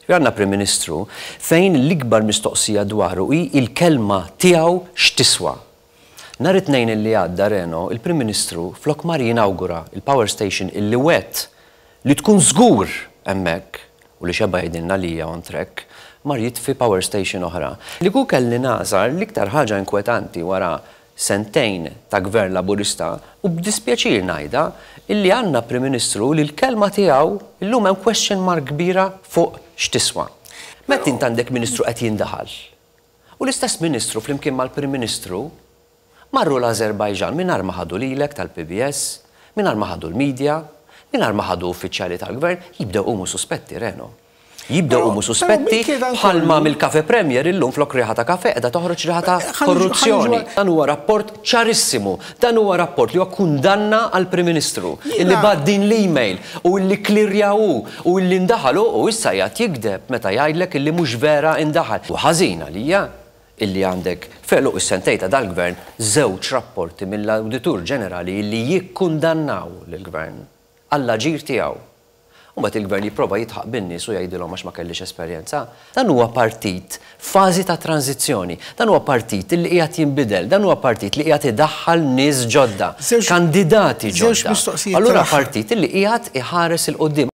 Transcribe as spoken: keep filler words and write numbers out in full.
Għandna Prim Ministru fejn l-ikbar mistoqsija dwaru hi il-kelma tiegħu x'tiswa. Nhar it-Tnejn illi għadda, Reno, il-Prim Ministru flok mar jinawgura il-power station illi wet li tkun żgur hemmhekk u li xeba jgħidilna li hija on track, mar jitfi power station oħra. Li ku kelli nagħżel l-iktar ħaġa inkwetanti wara sentejn ta' gvern Laburista, u b'dispjaċir ngħidha, illi għandna Prim Ministru li l-kelma tiegħu illum hemm question mark kbira fuq x'tiswa. Meta int għandek ministru qed jindaħal. U l-istess ministru flimkien mal-Prim Ministru marru l-Azerbajġan mingħajr ma ħadu lilek tal-P B S, mingħajr ma ħadu l-medja, mingħajr ma ħadu uffiċjali tal-gvern, jibdew iqumu suspetti, Reno. Jibdew iqumu suspetti bħalma mill-Cafe Premier illum flok riħa ta' kafe qiegħda toħroġ riħa ta' korruzzjoni. Dan huwa rapport ċarissimu. Dan huwa rapport li huwa kundanna għal Prim Ministru illi bagħat din l-email u illi klirjaw u illi ndaħalu u issa jgħid jigdeb meta jgħidlek illi mhux vera indaħal. U ħażina lija illi għandek f'għeluq is-sentejn ta' dal-gvern żewġ rapporti mill-Awditur Ġenerali illi jikkundannaw lill-gvern għall-aġir tiegħu. U mbagħad il-gvern jipprova jidħaq bin-nies u jgħidilhom għax ma kellix esperjenza. Dan huwa partit fażi ta' tranzizzjoni. Dan huwa partit li qiegħed jinbidel, dan huwa partit li qiegħed idaħħal nies ġodda, kandidati ġodda. Allura partit li qiegħed iħares 'il quddiem.